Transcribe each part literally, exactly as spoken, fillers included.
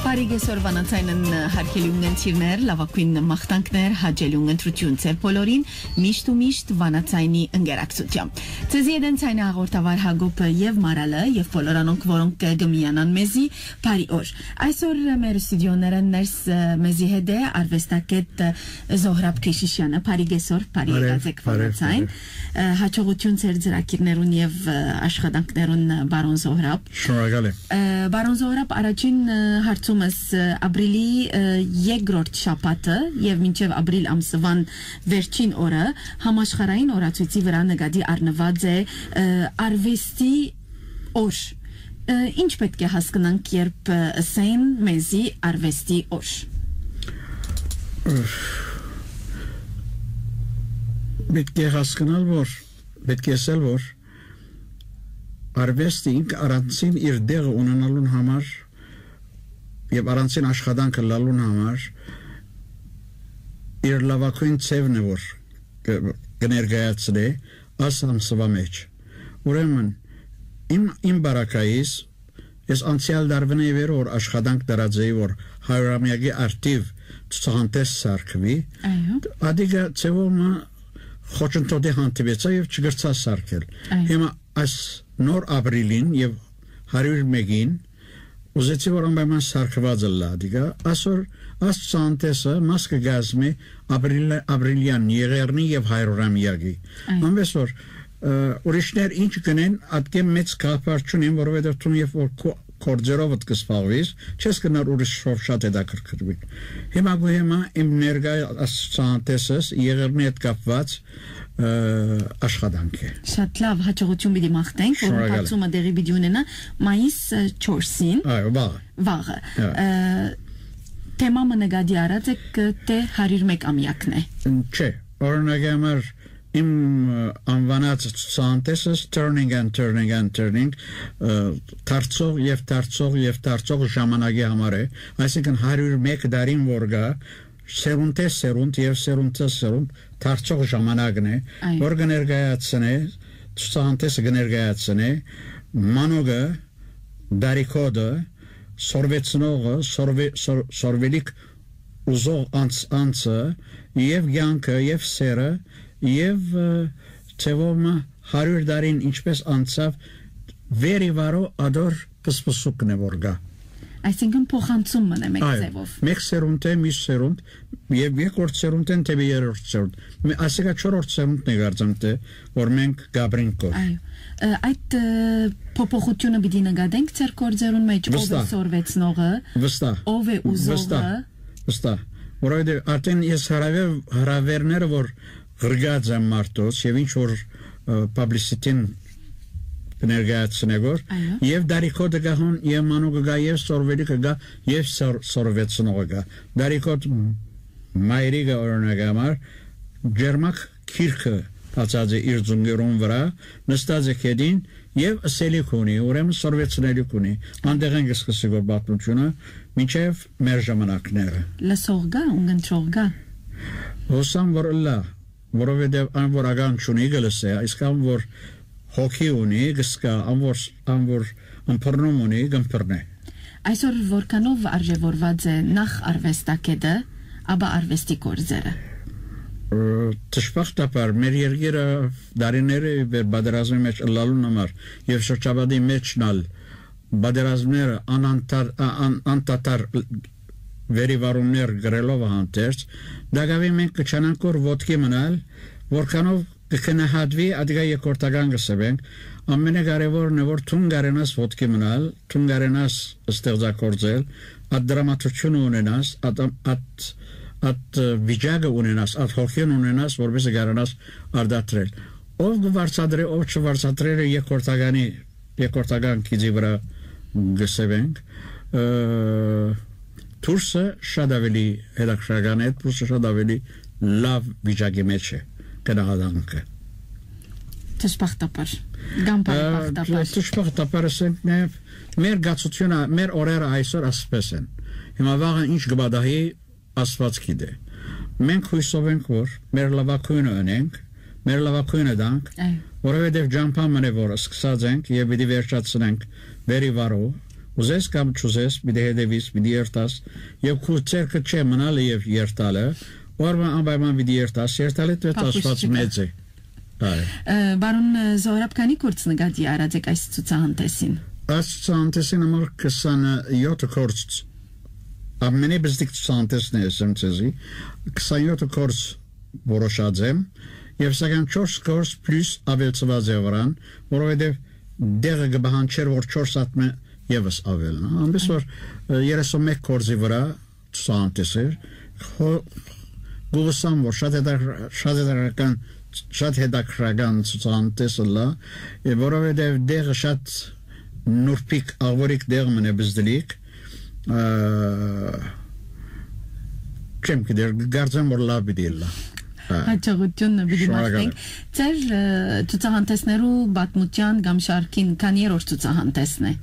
Բարի կեսօր, Վանաձայնն հարգելի ունգընտիրներ, լաւագոյն մաղթանքներ, հաճելի ունգընտրություն ձեր բոլորին, միշտ ու միշտ Վանաձայնի ընկերակցությամբ։ Ձեզի հետ են ձայնը հաղորդավար Հակոբը եւ Մարալը, եւ բոլոր անոնք, որոնք կը, կը միանան մեզի, բարի օր։ Այսօր մեր ստուդիոներէն ներս, ը, մեզի հետ է արուեստագետ, ը, Զոհրաբ Քեշիշյանը։ Բարի կեսօր, բարի Բարև, եկած եք, բարև, Վանաձայն։ բարև։ Ը, հաջողություն ձեր ծրագիրներուն եւ, ը, աշխատանքներուն, ը, պարոն Զոհրաբ։ Շնորհակալ եմ։ Ը, պարոն Զոհրաբ, առաջին, ը, հարցումս, ը, ապրիլի, ը, երկրորդ շաբաթը եւ մինչեւ ապրիլ ամսուան վերջին օրը համաշխարհային օրացոյցի վրա նկատի առնուած է, ը, արուեստի օր։ Ը, ինչ պէտք է հասկնանք, երբ, ը, ըսեն մեզի արուեստի օր։ Պէտք է հասկնալ, որ, պէտք է ասել, որ արուեստը ինք առանձին իր տեղը ունենալուն համար եւ առանձին աշխատանքը լալուն համար իր լաւագոյն ձեւն է, որ կը, կը ներկայացնէ աս ամսուայ մէջ։ Ուրեմն, իմ, իմ բարակայիս, ես անցեալ դարուին է վեր որ աշխատանք դրած էի, որ հարիւրամեակի արդիւ ցուցահանդէս սարքուի, Այո։ ադիգա ձեւով մը խոչընդոտի հանդիպեցա եւ չկրցա սարքել։ Այո։ Հիմա այս նոր ապրիլին եւ հարիւր մէկին ուզեցի, որ անպայման սարքուած ըլլայ ադիգա։ Այսօր այս ցուցահանդէսը մաս կը կազմի ապրիլ-, ապրիլեան եղեռնի եւ հարիւրամեակի։ Այո։ Անվես որ, ը, ուրիշներ ինչ կնեն, ատկէ մեծ գաղափար չունին, որովհետեւ դուն երբ որ քո գործերովդ կը զբաղվիս, չես կնար ուրիշով շատ հետաքրքրվի։ Հիմա գոյ հիմա իմ ներկայ այս ցուցահանդէսս եղեռնի հետ կապված, ը, աշխատանք է։ Շատ լավ, հաջողություն պիտի մաղթենք, որ Շնորհակալ եմ։ Բացումը տեղի պիտի ունենա մայիս, ը, չորսին, Այո, վաղը։ վաղը։ Հա։ Ը, թեմա մը նկատի առած եք, ը, թէ հարիւր մէկ ամեակն է։ Չէ, օրինակի համար իմ, ը, անվանած ցուցահանդէսս Turning and Turning and Turning, ը, դարձող եւ դարձող եւ դարձող ժամանակի համար է, այսինքն հարիւր մէկ դարին որ գայ, սերունդէ սերունդ եւ սերունդէ սերունդ դարձող ժամանակն է, Այո։ որ կը ներկայացնէ, ցուցահանդէսը կը ներկայացնէ մանուկը, դարիքոտը, սորվեցնողը, սորվե-, սոր-, սորվելիք ուզող անց-, անձը, եւ կեանքը, եւ սերը, եւ, ը, ձեւով մը հարիւր տարին ինչպես անցաւ, վեր ի վարո ադոր պսպսուկն է որ գայ։ Այսինքն փոխանցում մնա մեկ Այո, ձևով։ մեկ սերունդ է, մյուս սերունդ, եւ երկրորդ սերունդէն դեպի երրորդ սերունդ։ Մե-, ասիկա չորրորդ սերունդն է կարծեմ, թե որ մենք կապրենք կոր։ Այո։ Ը, այդ, ը, փոփոխությունը պիտի նկատենք ձեր գործերուն մեջ, ով է Վստահ։ սորվեցնողը, Վստահ։ ով է ուզողը։ Վստահ, վստահ։ Որովհետեւ արդեն ես հրավեր-, հրավերները, որ ղրկած եմ մարդոց, եւ ինչ որ, ը, publicity-ն կներկայացնե գոր, Այո։ եւ դարիքոտը գահուն, եւ մանուկը գա, եւ սորվելիքը գա, եւ սոր-, սորվեցնողը գա։ Դարիքոտ մայրիկը, օրինակ համար, ջերմակ քիրքը բացած է իր ձունկերուն վրա, նստած է քեդին եւ ըսելիք ունի, ուրեմն սորվեցնելիք ունի։ Անդեղեն կը սկսի գոր պատմությունը, մինչեւ մեր ժամանակները։ Լսող գա, ունգընտրող գա։ Հուսամ որ ըլլայ, որովհետեւ ան որ ական չունի, կը լսէ, իսկ ան որ հոգի ունի, կը սկայ, ան որ, ան որ ըմբռնում ունի, կ'ըմբռնէ։ Այսօր որքանով արժեվորված է նախ արվեստագետը, ապա արվեստի գործերը։ Ը, դժբախտաբար, մեր երկիրը դարիները ի վեր պատերազմի մեջ ըլլալուն համար եւ շրջապատի մեջն ալ պատերազմները անանթար-, ա-, ան-, անդադար վերիվարումներ գրելով հանդերձ, դակավին մենք կչանանք որ ոտքի մնալ, որքանով կգնահատվի, ադիգա երկրորդական կսվենք, ամենակարևորն է, որ դուն կարենաս ոտքի մնալ, դուն կարենաս ստեղծագործել, այդ դրամատուրգիությունը ունենաս, այդ, այդ, այդ վիճակը ունենաս, այդ հոգին ունենաս, որպեսզի կարենաս արտադրել։ Ով կը վարձատրէ, ով չվարձատրէ, երկրորդականի, երկրորդական գիծի վրայ գսեւենք, ը, դուրսը շատ ավելի հետաքրքրական է, դուրսը շատ ավելի լավ վիճակի մեջ է, գնահատանքը։ Դժբախտաբար, կամ բարեբախտաբար։ Ը, դժբախտաբար, ասենք, մե-, մեր գացությունը, մեր օրերը այսօր ասպես են։ Հիմա վաղը ինչ կը պատահի, Աստուած գիտէ։ Մենք հոյսով ենք, որ մեր լաւագոյնը ընենք, մեր լաւագոյնը տանք, Այո։ որովհետև ճամբայ մնե, որ սկսած ենք եւ պիտի վերջացնենք վերի վարով, ուզես կամ չուզես, պիտի հետևիս, պիտի երթաս, եւ քու ձեռքը չէ մնալը եւ երթալը, որ մը անպայման պիտի երթաս, երթալը դեռ Փախուստ Աստուած չկա։ մեծ է։ Այո։ Ը, պարոն Զոհրաբ, քանի՞ գործ նկատի առած եք այս ցուցահանդեսին։ Այս ցուցահանդեսին համար քսանյոթ գործ, ամենէ բզդիկ ցուցահանդեսն է, ասեմ ձեզի, քսանյոթ գործ որոշած եմ, եւ սակայն չորս գործ պլյուս ավելցուած է վրան, որովհետեւ դեղը կը պահանջեր, որ չորս ատմէ եւս ավելնա։ Այնպես որ, ը, երեսունմեկ գործի վրայ ցուցահանդես էր, հո-, գովսամ, որ շատ հետաքր-, շատ հետաքրքրական, շատ հետաքրքրական ցուցահանդես ըլլա, է, որովհետեւ դեղը շատ նուրբիկ, աղվորիկ դեղ մնե բզդլիկ, ը, չեմ գիտեր, կարծեմ, որ լավ պիտի ըլլա։ Ա, Հաջողութիւնը պիտի շնորհակալ մաղթենք։ եմ։ Ձեր, ը, ցուցահանդեսներու պատմութեան կամ շարքին քանի երրորդ ցուցահանդեսն է։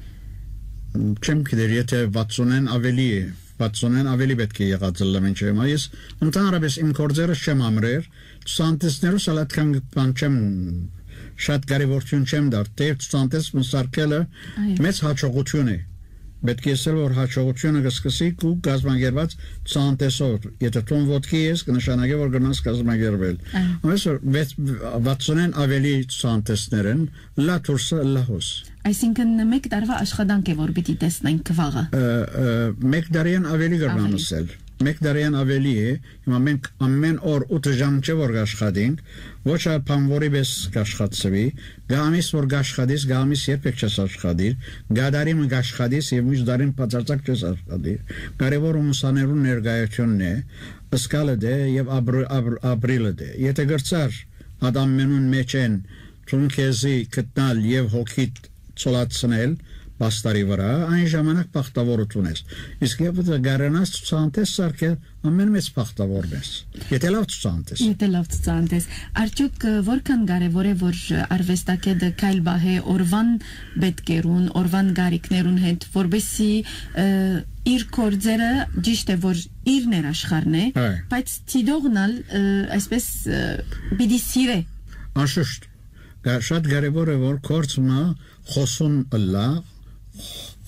Չեմ գիտեր, եթե վաթսունէն ավելի է, վաթսունէն ավելի պէտք է եղած ըլլայ մինչեւ հիմա։ Ես ընդհանրապես իմ գործերս չեմ ամրեր, ցուցահանդեսներուս ալ այդքան բան չեմ, շատ կարեւորութիւն չեմ տար, թէեւ ցուցահանդես մը սարքելը Այո։ մեծ հաջողութիւն է։ Պէտք է ասել, որ հաջողութիւնը կը սկսի քու կազմակերպած ցուցահանդեսով։ Եթե դուն ոտքի ես, կնշանակէ, որ կրնաս կազմակերպել։ Այո։ Ամենից որ վեց-, վաթսունէն ավելի ցուցահանդեսներ են, լա դուրսը, լա հոս։ Այսինքն, մեկ տարվա աշխատանք է, որ պիտի տեսնենք վաղը։ Ը, ը, մեկ տարիան ավելի կրնամ Ավելի։ ասել։ Մեկ տարիան ավելի է, հիմա մենք ամեն օր ութ ժամ չէ որ կաշխատենք, ոչ այլ բան որի պես կաշխատցվի, գա ամիս որ կաշխատես, գա ամիս երբեք չես աշխատիր, գա տարի մը կաշխատես եւ մյուս տարին բացարձակ չես աշխատիր։ Կարեւորը ուսաներուն ներկայությունն է, սկալը դե եւ ապր-, ապր-, ապրիլը դե։ Եթե գրծար, այդ ամենուն մեջ են, դուն քեզի գտնալ եւ հոգիդ ցոլացնել պաստարի վրա, այն ժամանակ բախտավորութիւն ես։ Իսկ եթե կարենաս ցուցահանդես սարքել, ամեն մեծ բախտավորն ես։ Եթե լավ ցուցահանդես։ Եթե լավ ցուցահանդես։ Արդյոք, ը, որքան կարևոր է, որ արվեստագետը քայլ պահէ օրվան պէտքերուն, օրվան կարիքներուն հետ, որպեսզի, ը, իր գործերը, ճիշտ է, որ իր ներաշխարհն է, Այ։ բայց դիտողն ալ, ը, այսպես, ը, պիտի սիրե։ Անշուշտ, կա-, շատ կարևոր է, որ գործ մը խոսուն ըլլայ,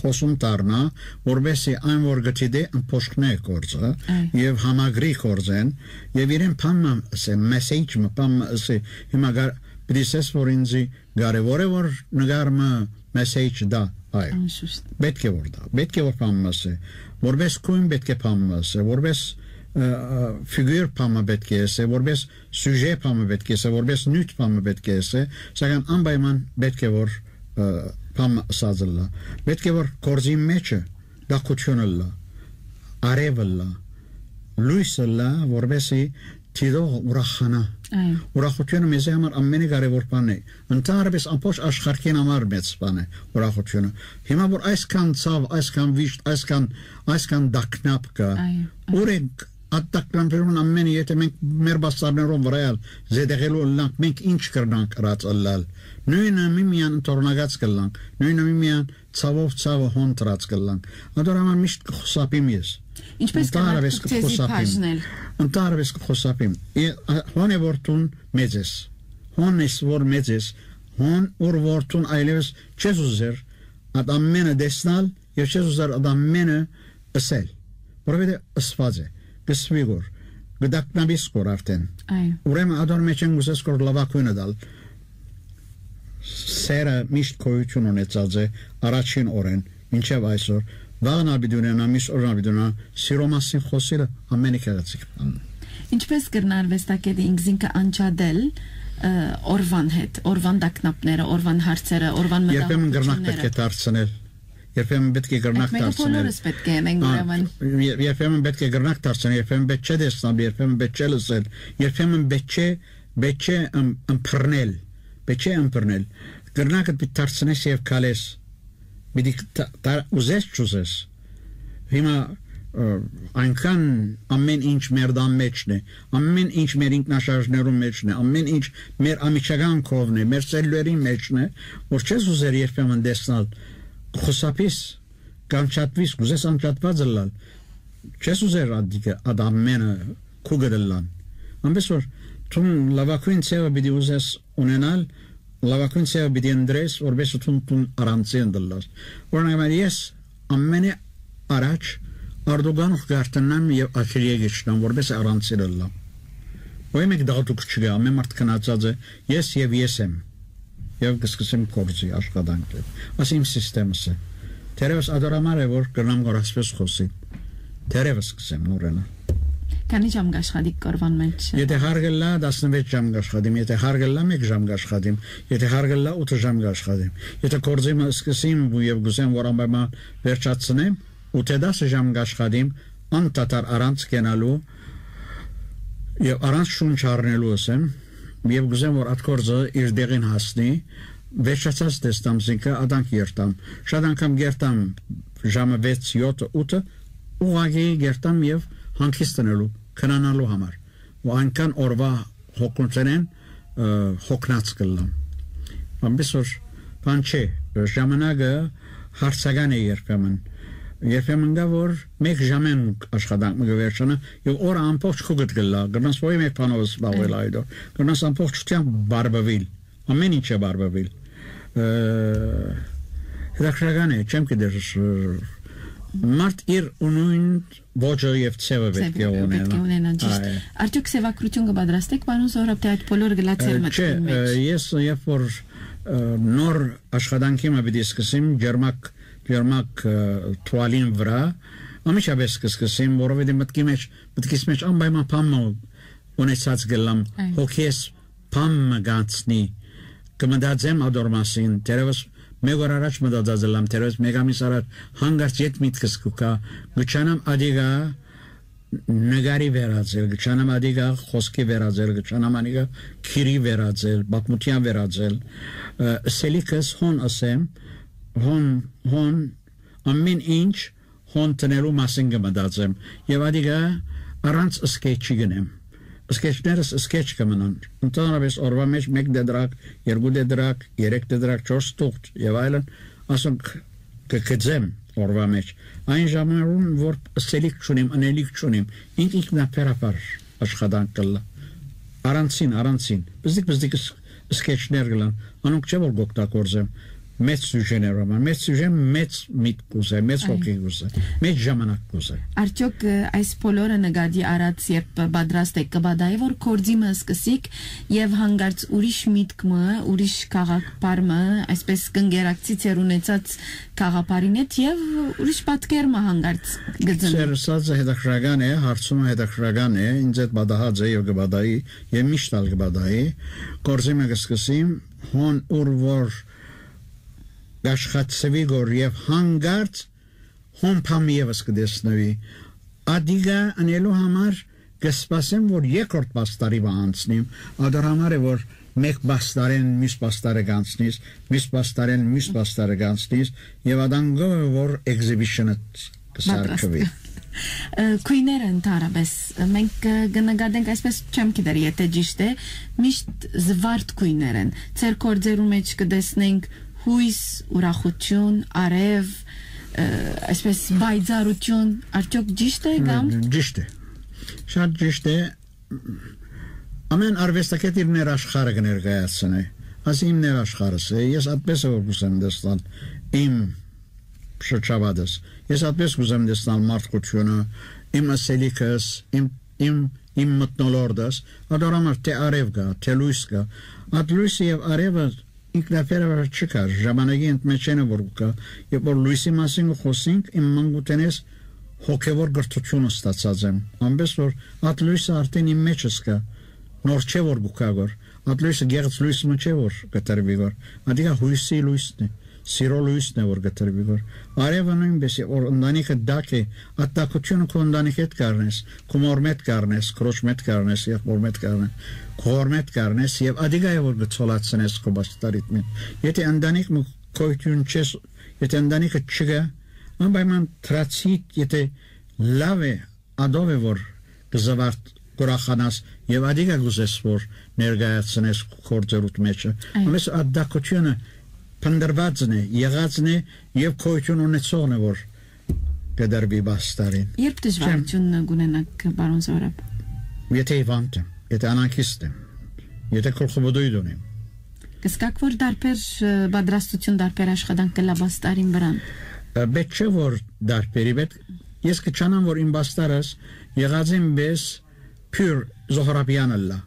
խոսուն դառնայ, որպեսզի այն, որ գտի դե, ըմբոշխնէ գործը Այ։ եւ համագրի գործեն, եւ իրեն բան մը ըսէ, մեսեյջ մը, բան մը ըսէ, հիմա գար-, պիտի սես, որ ինձի կարևոր է, որ նկար մը մեսեյջ դա, այո։ Անշուշտ։ Պետք է որ դա, պետք է որ բան մը ըսէ, որպես գոյն պետք է բան մը ըսէ, որպես, ը, ը, ֆիգուր բան մը պետք է ըսէ, որպես սյուժե բան մը պետք է ըսէ, որպես նիւթ բան մը պետք է ըսէ, սակայն անպայման պետք է որ, ը, բան մը ըսած ըլլայ։ Պետք է որ գործին մեջը տաքութիւն ըլլայ, արեւ ըլլայ, լոյս ըլլայ, որպեսզի դիտող ուրախանայ։ Այո։ Ուրախութիւնը մեզի համար ամենէ կարեւոր բանն է։ Ընդհանրապես ամբողջ աշխարհին համար մեծ բան է ուրախութիւնը։ Հիմա որ այսքան ցաւ, այսքան վիշտ, այսքան, այսքան տագնապ կա, Այո, այո։ ուր ենք այդ տագնապերուն ամենը, եթե մենք մեր բաստարներուն վրայ ալ զետեղելու ըլլանք, մենք ինչ կրնանք ըրած ըլլալ։ Նոյնը միմիան ընթորնակած կըլլանք, նոյնը միմիան ցաւով ցաւը հոն դրած կըլլանք։ Ադոր համար միշտ կխուսափիմ ես։ Ինչպես Ընդհանրապես կրնաք ձեզի կխուսափիմ։ բաժնել։ Ընդհանրապես կխուսափիմ։ Է, ա, հոն է որ դուն մեծ ես։ Հոն ես որ մեծ ես։ Հոն ուր որ դուն այլևս չես ուզեր այդ ամենը տեսնալ եւ չես ուզեր այդ ամենը ըսել, որովհետեւ ըսված է, կսվի գոր, կդակնաբիս գոր արդեն։ Այո։ Ուրեմն ադոր մեջ են գուսես գոր լավագույնը տալ։ Սերը միշտ գոյություն ունեցած է առաջին օրեն մինչեւ այսօր, վաղն ալ պիտի ունենա, մյուս օրն ալ պիտի ունենա, սիրո մասին խոսելը ամենը գեղեցիկ բան։ Ինչպես կրնա արվեստագետը ինքզինքը անջատել, ը, օրվան հետ, օրվան տագնապները, օրվան հարցերը, օրվան Երբեմն կրնակ մտահոգությունները։ պետք է դարձնել, երբեմն պետք է կրնակ Այդ մեկը դարձնել։ բոլորս պետք է անենք, Ա, ուրեմն։ ե-, երբեմն պետք է կրնակ դարձնել, երբեմն պետք չէ տեսնել, երբեմն պետք չէ լսել, երբեմն պետք չէ, պետք չէ ըմ-, ըմբռնել, Չէ ըմբռնել։ Կրնակդ պիտի դարձնես եւ քալես։ Պիտի տ-, տ-, ուզես չուզես։ Հիմա, ը, այնքան ամեն ինչ մեր տան մեջն է, ամեն ինչ մեր ինքնաշարժներուն մեջն է, ամեն ինչ մեր ամիջական կողմն է, մեր սելլուերին մեջն է, որ չես ուզեր երբեմն տեսնալ, խուսափիս, կանչատվիս, կուզես անջատված ըլլալ, չես ուզեր ադիկը, ադ ամենը քուկդ ըլլան։ Ամենսոր դուն լավագույն ձևը պիտի ուզես ունենալ, լավագույն ձևը պիտի ընտրես, որպեսզի դուն, դուն առանձին ըլլաս։ Օրինակ, ես ամենէ առաջ Արդուգանով կարտենամ եւ ateljê կիջնամ, որպեսզի առանձին ըլլամ։ Ոյ մեկ դաղդուկ չկայ, ամեն մարդ գնացած է, ես եւ ես եմ։ Եւ կսկսեմ գործի աշխատանքը։ Ասի իմ սիստեմս է։ Թերևս ադորամար է, որ կրնամ գոր ասպես խոսի։ Թերևս կսեմ նորենա։ Քանի՞ ժամ կաշխատիք կորվան մեջ։ Եթե հարգելլա, տասնվեց ժամ կաշխատիմ, եթե հարգելլա, մեկ ժամ կաշխատիմ, եթե հարգելլա, ութ ժամ կաշխատիմ։ Եթե գործի մը սկսեմ ու եւ գուսեմ, որ անպայման վերջացնեմ, ութ դասը ժամ կաշխատիմ, անդադար առանց կենալու եւ առանց շունչ առնելու, ասեմ, եւ գուսեմ, որ այդ գործը իր դեղին հասնի, վերջացած տեսնամ զինքը, ադանք երթամ։ Շատ անգամ գերտամ ժամը վեց, յոթը, ութը, ուղղակի գերտամ եւ հանգիստ ընելու, քնանալու համար։ Ու այնքան օրվա հոգնութենեն, ը, հոգնած կլլամ։ Ամենսոր բան չէ, ժամանակը հարցական է երբեմն։ Երբեմն կա, որ մեկ ժամեն աշխատանք մը կը վերջանա, եւ օրը ամբողջ քուկդ կլլա, կրնաս ոյ մեկ բանով զբաղվել այդոր, կրնաս ամբողջությամբ բարբվել, ամեն ինչ է բարբվել։ Ը, հետաքրքրական է, չեմ գիտեր, ը, մարդ իր ու նույն ոճը եւ ձևը պետք է Ձևը պետք է ունենա։ Ունենա, ճիշտ։ Այ։ Արդյոք սեւագրություն կը պատրաստեք, պարոն Զորապ, թե այդ բոլորը գլա ձեր Ը, մտքին չէ, մեջ։ Ը, ես երբ որ, ը, նոր աշխատանքի մը պիտի սկսեմ, ջերմակ, ջերմակ, ը, թուալին վրա, անմիջապես կսկսեմ, որովհետեւ մտքի մեջ, մտքիս մեջ անպայման բան մը ունեցած կլամ, Այ։ հոգիս բան մը գանցնի, կմտածեմ ադոր մասին, թերևս մեկ օր առաջ մտածած ըլլամ, թերևս մեկ ամիս առաջ, հանկարծ ետ միտքս կուքա, գուչանամ ադիգա նկարի վերածել, գուչանամ ադիգա խոսքի վերածել, գուչանամ անիգա քիրի վերածել, պատմության վերածել, ը, սելիքս հոն ասեմ, հոն, հոն, ամեն ինչ հոն տնելու մասին կը մտածեմ, եւ ադիգա առանց սկեչի գնեմ։ Սկեչներս սկեչ կը մնան։ Ընդհանրապես օրվա մեջ մեկ դեդրակ, երկու դեդրակ, երեք դեդրակ, չորս թուղթ եւ այլն, ասոնք կը գծեմ օրվա մեջ։ Այն ժամերուն, որ սելիք չունիմ, ընելիք չունիմ, ինք ինքնաբերաբար աշխատանք կլլա։ Առանցին, առանցին, բզդիկ, բզդիկ ս-, սկեչներ կլան, անոնք չէ որ կօգտագործեմ մեծ սյուժեներով, մեծ սյուժեն մեծ միտք կուզե, մեծ Այո։ հոգի կուզե, մեծ ժամանակ կուզե։ Արդյոք, ը, այս բոլորը նկատի առած, երբ պատրաստ եք, կբադայի, որ գործի մը սկսիկ եւ հանկարծ ուրիշ միտք մը, ուրիշ քաղաքապար մը, այսպես կընկերակցի ձեր ունեցած քաղաքապարին հետ եւ ուրիշ պատկեր մը հանկարծ կծնի։ Ձեր ասածը հետաքրքրական է, հարցումը հետաքրքրական է, ինձ հետ պատահած է եւ կպատահի, եւ միշտ ալ կպատահի, գործի մը կսկսիմ, հոն ուր որ կաշխատցվի գոր եւ հանկարծ հոն փամ եւս կտեսնվի։ Ադիգա ընելու համար կսպասեմ, որ երկրորդ պաստարի մը անցնիմ, ադոր համար է, որ մեկ պաստարեն մյուս պաստարը կանցնիս, մյուս պաստարեն մյուս պաստարը կանցնիս, եւ ադանգով է, որ exhibition-ը կսարքվի։ Պատրաստվի։ Ը, քույները ընդհանրապես, մենք, ը, կնկատենք, այսպես չեմ գիտեր, եթե ճիշտ է, միշտ զվարթ քույներ են։ Ձեր գործերու մեջ կտեսնենք հույս, ուրախություն, արև, ը, այսպես պայծառություն, արդյոք ճիշտ է կամ Ը, ճիշտ է։ Շատ ճիշտ է։ Ամեն արվեստագետ իր ներաշխարհը կներկայացնի։ Ասի իմ ներաշխարհս է, ես այդպես է որ կուզեմ տեսնել իմ շրջապատս։ Ես այդպես կուզեմ տեսնել մարդկությունը, իմ ասելիքս, իմ, իմ, իմ մթնոլորտս, ադոր համար թե արև կա, թե լույս կա։ Այդ լույսը եւ արևը ինքնաբերաբար չկա, ժամանակի ընդմեջենը որ կա, երբ որ լույսի մասին կը խոսենք, իմ մանկութենէս հոգեվոր կրթություն ստացած եմ, ամենսոր այդ լույսը արդեն իմ մեջս կա, նոր չէ որ կուքա գոր, այդ լույսը գեղձ լույս մը չէ որ կտրվի գոր, ադիգա հույսի լույսն է, սիրո լոյսն է որ կտրուի, որ արեւը նոյնպէս է, որ ընտանիքը դակ է, ատտակությունը քո ընտանիքի հետ կառնես, քու մոր մէտ կառնես, քրոջ մէտ կառնես, եղբոր մէտ կառնես, քու հոր մէտ կառնես եւ ադիգա է որ կցոլացնես քո բաստարիդ մէտ։ Եթե ընտանիք մը գոյություն չես, եթե ընտանիքը չկա, անպայման դրացի, եթե լավ է, ադով է որ կզվարդ կուրախանաս եւ ադիգա կուզես որ ներկայացնես գործերուդ մեջը։ Այո։ Ամենս ատտակությունը փնտրվածն է, եղածն է եւ գոյություն ունեցողն է որ կդրվի բաստարին։ Երբ դժվարությունն կունենաք, պարոն Զորապ։ Եթե հիվանդ եմ, եթե անանքիստ եմ, եթե գլխուվդույթ ունեմ։ Կսկակ որ դարբեր, ը, պատրաստություն, դարբեր աշխատանք կլա բաստարին վրան։ Ը, պետք չէ որ դարբերի, պետք, ես կչանամ որ իմ բաստարս եղած եմ պես փյուր Զոհրաբյան ըլլա,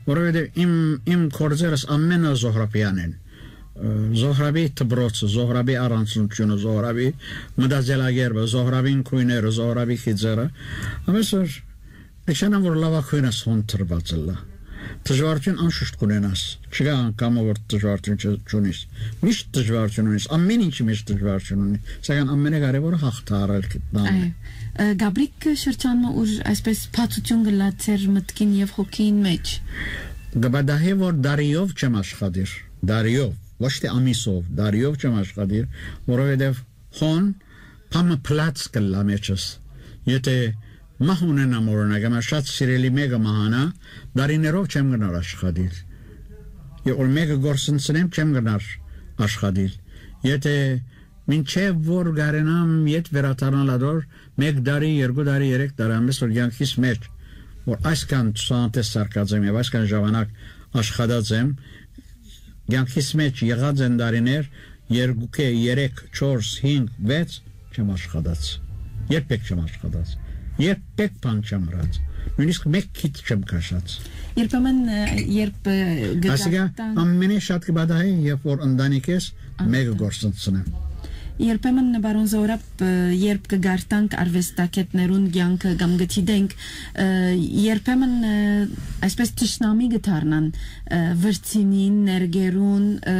որովհետեւ իմ, իմ գործերս ամենը Զոհրաբյան են։ Ը, Զոհրաբի դպրոցը, Զոհրաբի առանձնությունը, Զոհրաբի մտածելակերպը, Զոհրաբին քոյները, Զոհրաբի խիծերը, ամեն որ նշանան որ լավագույնս հոն տրված ըլլա։ Դժվարություն անշուշտ կունենաս, չկա անգամը որ դժվարություն չունիս, միշտ դժվարություն ունիս, ամեն ինչի մեջ դժվարություն ունի, սակայն ամենակարևորը հաղթարել գտնալն է։ Այո։ Ը, Գաբրիկ շրջանը, ուր այսպես բացություն կլա ձեր մտքին եւ հոգին մեջ։ Կպատահի որ դարիով չեմ աշխատիր, դարիով, ոչ թե ամիսով, դարիով չեմ աշխատիր, որովհետեւ հոն փամը փլած կլլա մեջս։ Եթե մահ ունենամ, օրինակ, ամա շատ սիրելի մեկը մահանա, դարիներով չեմ գնար աշխատիլ։ Եւ որ մեկը գործընծնեմ, չեմ գնար աշխատիլ։ Եթե մինչեւ որ գարենամ ետ վերադառնալ ադոր, մեկ տարի, երկու տարի, երեք տարի, ամենս որ կյանքիս մեջ, որ այսքան ցուցանտես սարկած եմ եւ այսքան ժամանակ աշխատած եմ, կյանքիս մեջ եղած են դարիներ, երկուքէ, երեք, չորս, հինգ, վեց չեմ աշխատած։ Երբեք չեմ աշխատած։ Երբեք բան չեմ ըրած։ Նույնիսկ մեկ քիթ չեմ քաշած։ Երբեմն, ը, երբ, ը, Ասիկա գտարտան ամենէ շատ կբադահի, երբ որ ընտանիքես մեկը Անհատը։ Գործընծնեմ։ Երբեմն, պարոն Զորապ, ը, երբ կգարտանք արվեստագետներուն կյանքը կամ գտիդենք, ը, երբեմն, ը, այսպես թշնամի կդառնան, ը, վրցինին, ներգերուն, ը,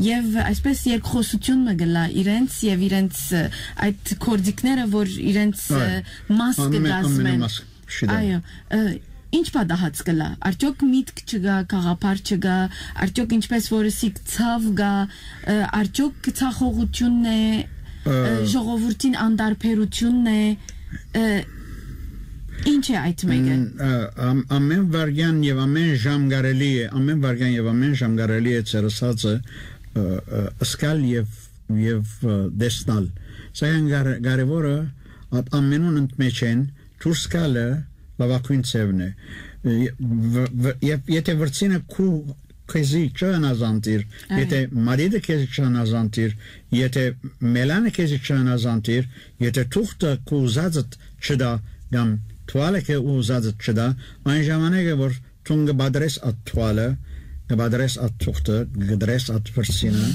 եւ այսպես երկխոսություն մը կլա իրենց եւ իրենց, ը, այդ գործիքները, որ իրենց, ը, Այո։ Մաս Ամեն, կդասմեն։ Ամենամաս շիդա։ Այո, ը, ինչ պատահած կլա։ Արդյոք միտք չկա, գաղափար չկա, արդյոք ինչպես որ սիկ ցավ կա, ը, արդյոք ցախողությունն է, ը, Ը, ժողովրդին անդարբերությունն է, ը, ինչ է այդ մեկը։ Մ, ը, ամ-, ամեն վարյան եւ ամեն ժամ կարելի է, ամեն վարյան եւ ամեն ժամ կարելի է ծերսածը, ը, ը, սկալ եւ, եւ, ը, տեսնալ։ Սակայն կար-, կարևորը, այդ ամենուն ընդմեջեն դուրս գալը լավագույն ձևն է։ Ը, վ-, վ-, եւ եթե վրցինը քու քեզի չհնազանդիր, Այո։ Եթե մադիդը քեզի չհնազանդիր, եթե մելանը քեզի չհնազանդիր, եթե թուղթը քու ուզածդ չդա, կամ թուալը քե ուզածդ չդա, այն ժամանակ է որ դուն կբադրես այդ թուալը, կբադրես այդ թուղթը, կգդրես այդ վրցինը,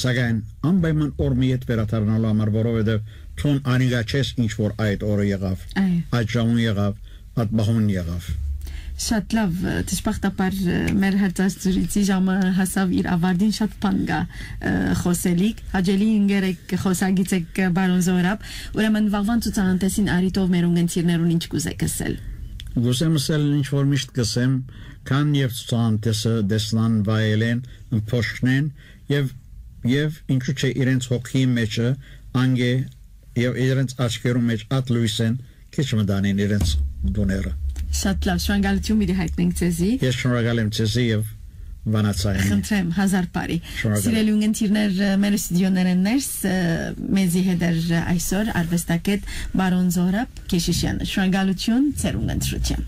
սակայն անպայման օր մի հետ վերադառնալու համար, որովհետեւ դուն անիգա չես ինչ որ այդ օրը եղավ, Այո։ Այդ ժամուն եղավ, այդ մահուն եղավ։ Շատ լավ, դժբախտաբար, ը, մեր հարցազրույցի ժամը հասավ իր ավարտին, շատ բան կա, ը, խոսելիք։ Հաճելի ինգեր եք, խոսագից եք, պարոն Զորապ, ուրեմն վաղվան ցուցահանդեսին արիտով մեր ունգընտիրներուն ինչ կուզեք ասել։ Կուզեմ ասել ինչ որ միշտ կսեմ, քան եւ ցուցահանդեսը տեսնան, վայելեն, ըմբոշխնեն եւ, եւ ինչու՞ չէ իրենց հոգիի մեջը անգե եւ իրենց աչքերու մեջ այդ լույսեն քիչ մտանին իրենց տուները։ Շատ լավ, շնորհակալություն պիտի հայտնենք ձեզի։ Ես շնորհակալ եմ ձեզի եւ Վանաձայինի։ Խնդրեմ, հազար բարի։ Շնորհակալ եմ։ Սիրելի ունգընտիրներ, ը, մեր ստուդիոներէն ներս, ը, մեզի հետ էր, ը, այսօր արվեստագետ պարոն Զորապ Քեշիշյանը։ Շնորհակալություն, ձեր ունգընտրության։